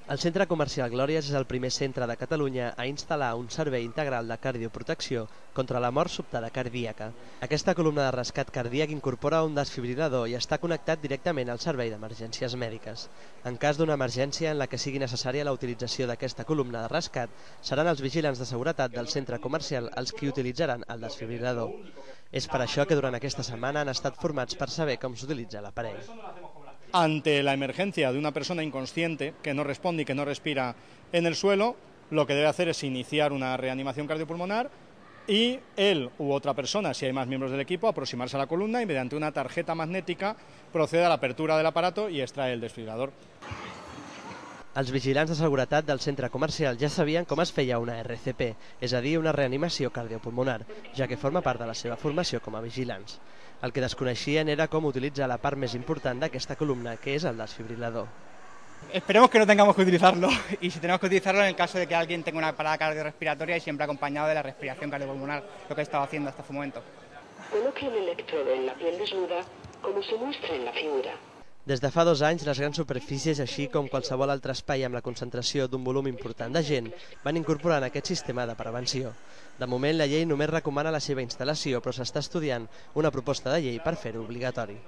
El Centre Comercial Glòries és el primer centre de Catalunya a instal·lar un servei integral de cardioprotecció contra la mort sobtada cardíaca. Aquesta columna de rescat cardíac incorpora un desfibrilador i està connectat directament al servei d'emergències mèdiques. En cas d'una emergència en la que sigui necessària la utilització d'aquesta columna de rescat, seran els vigilants de seguretat del centre comercial els qui utilitzaran el desfibrilador. És per això que durant aquesta setmana han estat formats per saber com s'utilitza l'aparell. Ante la emergencia de una persona inconsciente que no responde y que no respira en el suelo, lo que debe hacer es iniciar una reanimación cardiopulmonar y él u otra persona, si hay más miembros del equipo, aproximarse a la columna y mediante una tarjeta magnética procede a la apertura del aparato y extrae el desfibrilador. Els vigilants de seguretat del centre comercial ja sabien com es feia una RCP, és a dir, una reanimació cardiopulmonar, ja que forma part de la seva formació com a vigilants. El que desconeixien era com utilitzar la part més important d'aquesta columna, que és el desfibrilador. Esperemos que no tengamos que utilizarlo y si tenemos que utilizarlo en el caso de que alguien tenga una parada cardiorrespiratoria y siempre acompañado de la respiración cardiopulmonar, lo que he estado haciendo hasta este momento. Coloque el electrodo en la piel desnuda, como se muestra en la figura. Des de fa 2 anys, les grans superfícies, així com qualsevol altre espai amb la concentració d'un volum important de gent, van incorporant aquest sistema de prevenció. De moment, la llei només recomana la seva instal·lació, però s'està estudiant una proposta de llei per fer-ho obligatori.